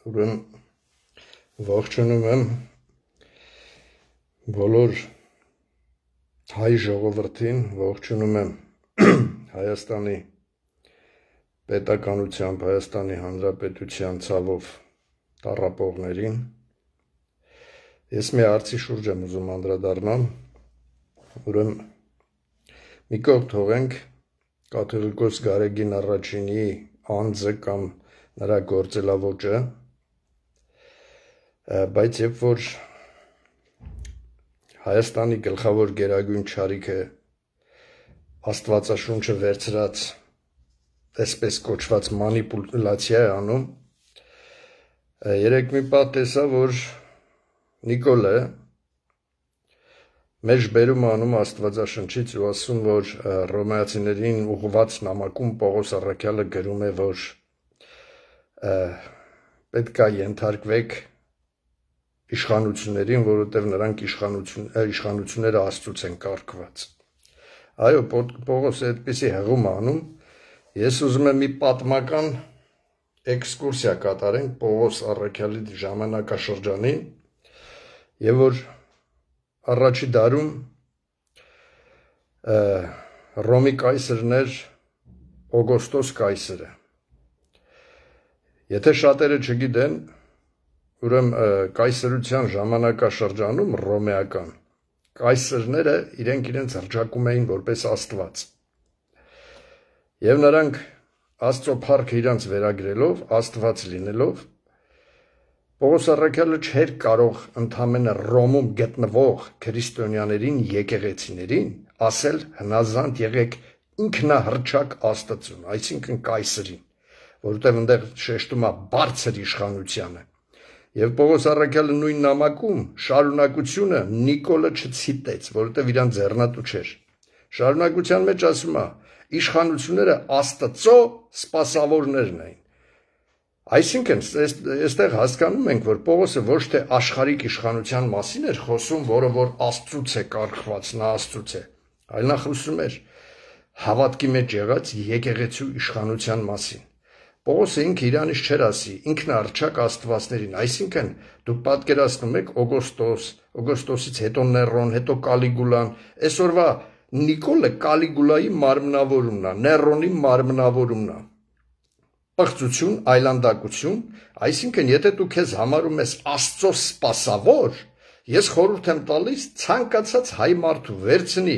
Ուրեմն ողջունում եմ բոլոր հայ ժողովրդին, ողջունում եմ Հայաստանի պետականությամբ, Հայաստանի Հանրապետության ցավով տառապողներին։ Ես մի հարցի շուրջ եմ ուզում անդրադառնալ, ուրեմն մի կողմ թողենք կաթողիկոս Գարեգին առաջինի անձը կամ նրա գործելավոճը, բայց երբ որ Հայաստանի գլխավոր գերագույն չարիքը Աստվածաշունչը վերցրած այսպես կոչված մանիպուլյացիա է անում, երեք մի պահ տեսա, որ Նիկոլը մեջ բերում անում Աստվածաշնչից ու ասում, որ ռոմեացիներին ուղղված նամակում Պողոս առաքյալը գրում է, որ պետք է ենթարկվեք իշխանություններին, որովհետև նրանք իշխանությունները Աստծուց են կարգված։ Այո, Պողոսը այդպիսի հղում անում, ես ուզում եմ մի պատմական էքսկուրսիա կատարենք Պողոս առաքյալի ժամանակաշրջանին, եւ որ առաջի դարում Ռոմի կայսրն էր Օգոստոս կայսրը։ Եթե շատերը չգիտեն, ուրեմն կայսրության ժամանակաշրջանում ռոմեական կայսրները իրենց հռչակում էին որպես Աստված։ Եվ նրանք Աստծո փառքը իրանց վերագրելով, Աստված լինելով, Պողոս առաքյալը չէր կարող ընդամենը Ռոմում գտնվող քրիստոնյաներին, եկեղեցիներին ասել հնազանդ եղեք ինքնահռչակ Աստծուն, այսինքն կայսրին, որովհետև այնտեղ շեշտում է բարձր իշխանությանը։ Եվ Պողոս առաքյալը նույն նամակում շարունակությունը Նիկոլը չցիտեց, որովհետև իրան ձեռնատու չէր։ Շարունակության մեջ ասում է. իշխանությունները Աստծո սպասավորներն էին։ Այսինքն, այստեղ հասկանում ենք, որ Պողոսը ոչ թե աշխարհիկ իշխանության մասին էր խոսում, որը որ Աստծուց է կարգված, նա Աստծուց է, այլ նա խոսում էր հավատքի մեջ եղած եկեղեցու իշխանության մասին։ Պողոսը ինքը իրանից չէր ասի, ինքնահռչակ աստվածներին, այսինքն դուք պատկերացնում եք Օգոստոսից հետո Ներոն, հետո Կալիգուլան, այսօրվա Նիկոլը Կալիգուլայի մարմնավորումն է, Ներոնի մարմնավորումն է։ Պղծություն, այլանդակություն, այսինքն եթե դու քեզ համարում ես Աստծո սպասավոր, ես խորհուրդ եմ տալիս ցանկացած հայ մարդու վերցնի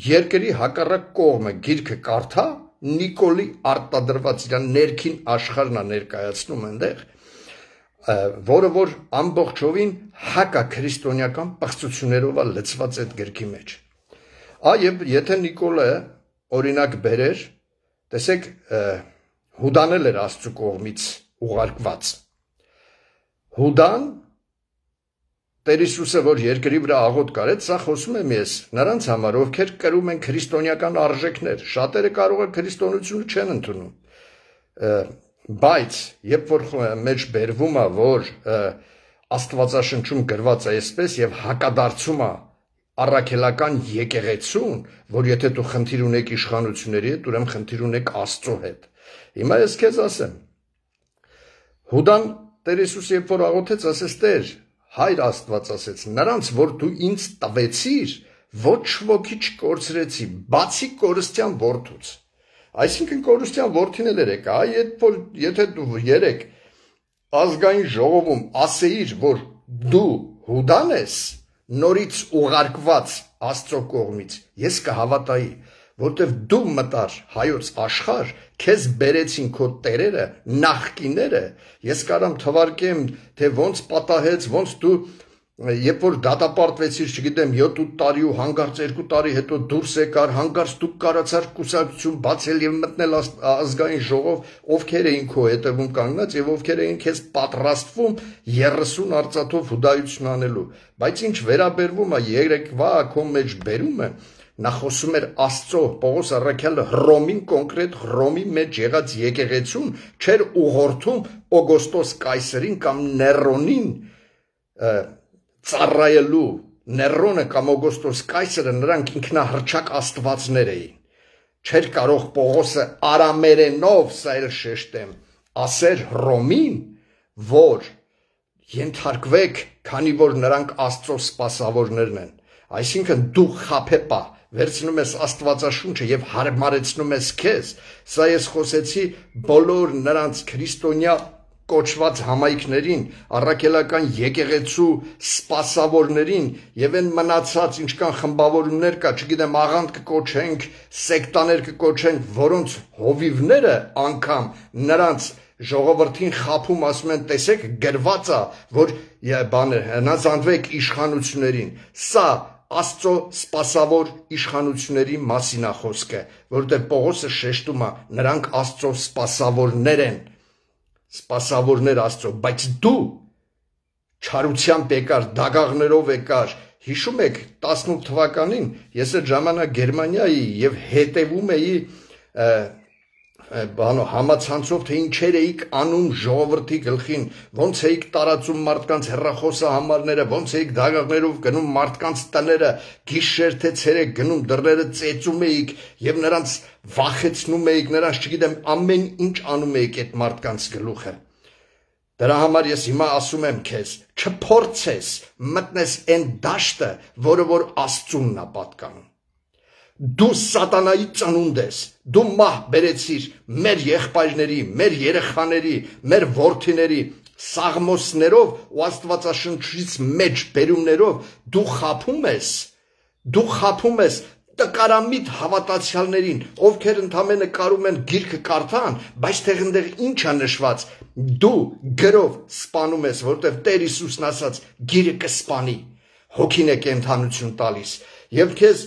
երկրի հակառակ կողմը գիրքը կարդա, Նիկոլի արտադրված իր ներքին աշխարհն է ներկայացնում այնտեղ, որը որ ամբողջովին հակաքրիստոնեական պղծություններով է լցված այդ գրքի մեջ։ Եվ եթե Նիկոլը օրինակ բերեր, տեսեք, Հուդան էր Աստծո կողմից ուղարկված։ Հուդան Տեր Հիսուսը, որ երկրի վրա աղոտ կարեց, սա խոսում եմ ես նրանց համար, ովքեր կրում են քրիստոնեական արժեքներ, շատերը կարող է քրիստոնեությունը չեն ընդունում, բայց երբ որ մեջ բերվում է, որ Աստվածաշնչում գրված է այսպես եւ հակադարձում է առաքելական եկեղեցուն, որ եթե դու խնդիր ունեք իշխանությունների հետ, ուրեմն խնդիր ունեք Աստծո հետ։ Հիմա ես քեզ ասեմ, Հուդան Տեր Հիսուսը երբ որ աղոթեց, ասեց Տեր, Հայր Աստված ասեց, նրանց, որ դու ինձ տվեցիր, ոչ ոքի չկորցրեցի, բացի կորստյան որդուց։ Այսինքն կորստյան որդին էլ երեք, եթե դու երեք ազգային ժողովում ասեիր, որ դու Հուդան ես, նորից ուղարկված Աստծո կողմից, ես կհավատայի, որտեվ դու մտար հայոց աշխարհ, քեզ բերեցին քո տերերը, նախկիները, ես կարամ թվարկեմ, թե ոնց պատահեց, ոնց դու, երբ որ դատապարտվեցիր, չգիտեմ, 7-8 տարի ու հանկարծ 2 տարի հետո դուրս եկար, հանկարծ դու կարացար կուսակցություն բացել եւ մտնել ազգային ժողով, ովքեր էին քո հետևում կանգնած եւ ովքեր էին քեզ պատրաստվում 30 արծաթով հուդայություն անելու, բայց ինչ վերաբերվում է երեկվա քո մեջ բերումը, նա խոսում էր Աստծո, Պողոս առաքյալը Հռոմին կոնկրետ Հռոմի մեջ եղած եկեղեցուն չէր ուղղորդում Օգոստոս կայսրին կամ Ներոնին ծառայելու, Ներոնը կամ Օգոստոս կայսրը նրանք ինքնահռչակ աստվածներ էին։ Չէր կարող Պողոսը արամերենով, սա էլ շեշտեմ, ասեր Հռոմին, որ ենթարկվեք, քանի որ նրանք Աստծո սպասավորներն են։ Այսինքն դու խաբեպա վերցնում ես Աստվածաշունչը եւ հարմարեցնում ես քեզ։ Սա ես խոսեցի բոլոր նրանց քրիստոնյա կոչված համայնքներին, առաքելական եկեղեցու սպասավորներին եւ այն մնացած ինչքան խմբավորումներ կա, չգիտեմ, աղանդ կկոչենք, սեկտաներ կկոչենք, որոնց հովիվները անգամ նրանց ժողովրդին խափում, ասում են, տեսեք, գրված է, որ հնազանդվեք իշխանություններին։ Սա Աստծո սպասավոր իշխանությունների մասին է խոսքը, որտեղ Պողոսը շեշտում է, նրանք Աստծո սպասավորներ են, սպասավորներ Աստծո, բայց դու չարությամբ եկար, դագաղներով եկար։ Հիշում եք 18 թվականին ես այդ ժամանակ Գերմանիայի եւ հետևում էի համացանցով, թե ինչեր էիք անում ժողովրդի գլխին, ոնց էիք տարածում մարդկանց հեռախոսահամարները, ոնց էիք դագաղներով գնում մարդկանց տները, գիշեր թե ցերեկ գնում դռները ծեծում էիք եւ նրանց վախեցնում էիք, նրանց չգիտեմ ամեն ինչ անում էիք այդ մարդկանց գլուխը։ Դրա համար ես հիմա ասում եմ քեզ, չփորձես մտնես այն դաշտը, որը որ Աստծունն է պատկանում։ Դու սատանայի ծնունդ ես, դու մահ բերեցիր մեր եղբայրների, մեր երեխաների, մեր որդիների սաղմոսներով ու Աստվածաշնչից մեջ բերումներով դու խափում ես տկարամիտ հավատացյալներին, ովքեր ընդամենը կարում են գիրքը կարդան, բայց տեղնդեղ ինչ է նշված, դու գրով սպանում ես, որտեղ Տեր Հիսուսն ասաց, գիրը կսպանի, հոգին է կենդանություն տալիս, եւ քեզ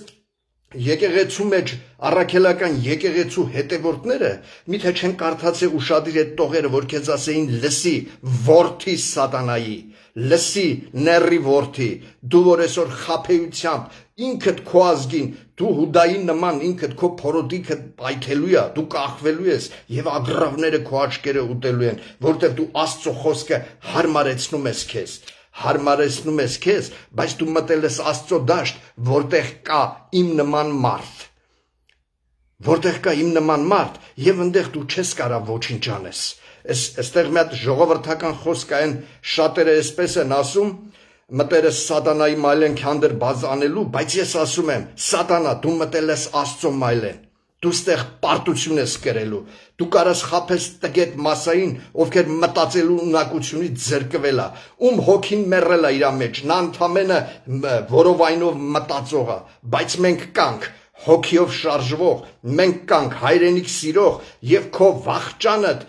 եկեղեցու մեջ առաքելական եկեղեցու հետևորդները միթե չեն կարդացել ուշադիր այդ տողերը, որ քեզ ասեին լսի որդի սատանայի, լսի նեռի որդի, դու որ այսօր խաբեությամբ ինքդ քո ազգին, դու Հուդայի նման ինքդ քո փորոտիքը պայթելու է, դու կախվելու ես եւ ագռավները քո աչքերը ուտելու են, որտեղ դու Աստծո խոսքը հարմարեցնում ես քեզ, բայց դու մտել ես Աստծո դաշտ, որտեղ կա իմ նման մարդ, եւ այնտեղ դու չես կարա ոչինչ անես։ Այստեղ մի հատ ժողովրդական խոսք այն շատերը այսպես են ասում, մտել ես սատանայի մայլեն քանդեր բազ անելու, բայց ես ասում եմ, սատանա, դու մտել ես Աստծո մայլեն։ Դու ստեղ պարտություն ես կրելու, դու կարաս խափես տգետ մասային, ովքեր մտածելու ունակությունից զրկվել է, ում հոգին մեռել է իր մեջ, նա ընդամենը որովայնով մտածող է, բայց մենք կանք հոգիով շարժվող, մենք կանք հայրենիք սիրող եւ քո վախճանդ,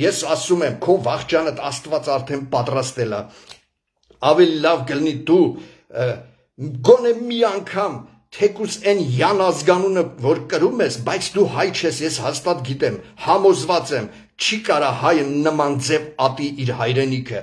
ես ասում եմ, քո վախճանդ Աստված արդեն պատրաստել է։ Ավելի լավ կլինի դու գոնե մի անգամ թեկուզ այն յան ազգանունը, որ կրում ես, բայց դու հայ չես, ես հաստատ գիտեմ, համոզված եմ, չի կարա հայը նման ձև ատի իր հայրենիքը,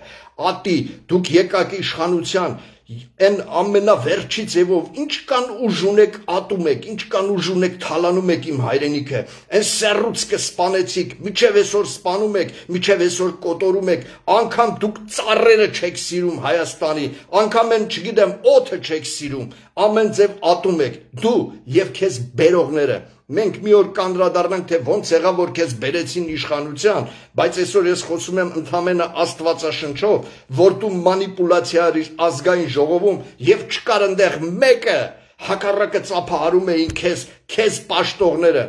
ատի, դուք եկաք իշխանության, այն ամենավերջի ձևով, ինչ կան ուժ ունեք ատում եք, ինչ կան ուժ ունեք թալանում եք իմ հայրենիքը, այն սեռուց կսպանեցիք, միջև այսօր սպանում եք, միջև այսօր կոտորում եք, անգամ դուք ծառերը չեք սիրում Հայաստանի, անգամ այն չգիտեմ օդը չեք սիրում, ամեն ձև ատում եք, դու եւ քեզ բերողները, մենք մի օր կանդրադառնանք, թե ոնց եղավ, որ քեզ բերեցին իշխանության, բայց այսօր ես խոսում եմ ընդամենը Աստվածաշնչով, որ դու մանիպուլյացիա արիր ազգային ժողովում եւ չկար այնտեղ մեկը հակառակը ծափահարում էին քեզ պաշտողները։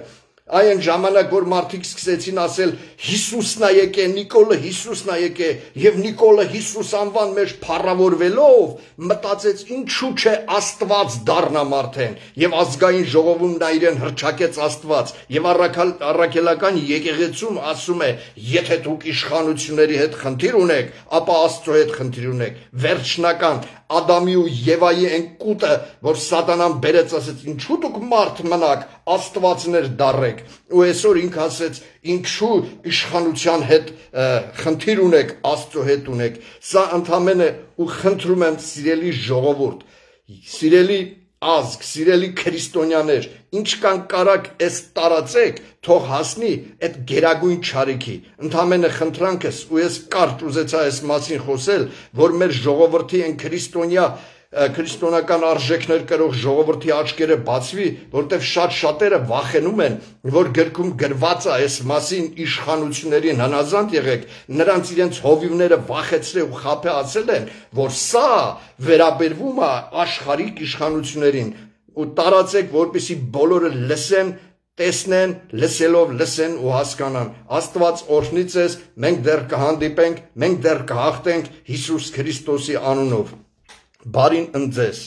Այն ժամանակ, որ մարդիկ սկսեցին ասել Հիսուսն է եկե, Նիկոլը Հիսուսն է եկե, եւ Նիկոլը Հիսուս անվան մեջ փառավորվելով մտածեց ինչու՞ չէ Աստված դառնա մարդեն, եւ ազգային ժողովում նա իրեն հրճակեց Աստված, եւ առաքելական եկեղեցում ասում է, եթե դուք իշխանությունների հետ խնդիր ունեք, ապա Աստծո հետ խնդիր ունեք, վերջնական Ադամի ու Եվայի այն կուտը, որ սատանան բերեց, ասեց, ինչու դուք մարդ մնաք, Աստվածներ դառեք, ու այսօր ինքը ասեց, ինչու իշխանության հետ խնդիր ունեք, Աստծո հետ ունեք, սա ընդամենը ու խնդրում եմ սիրելի ժողովուրդ, սիրելի ազգ, սիրելի քրիստոնյաներ, ինչ կան կարակ այս տարածեք, թող հասնի այդ գերագույն չարիքի, ընդամենը խնդրանքս, ու ես կարճ ուզեցա այս մասին խոսել, որ մեր ժողովրդի են քրիստոնյա քրիստոնական արժեքներ կրող ժողովրդի աչքերը բացվի, որտեղ շատ-շատերը վախենում են, որ գրքում գրված է այս մասին իշխանություններին հնազանդ եղեք, նրանց իրենց հովիվները վախեցրել ու խաբեացել են, որ սա վերաբերվում է աշխարհիկ իշխանություններին ու տարածեք, որպեսզի բոլորը լսեն, տեսնեն, լսելով լսեն ու հասկանան։ Աստված օրհնի ձեզ, մենք դեռ կհանդիպենք, մենք դեռ կհաղթենք Հիսուս Քրիստոսի անունով։ Բարին ընդ ձեզ։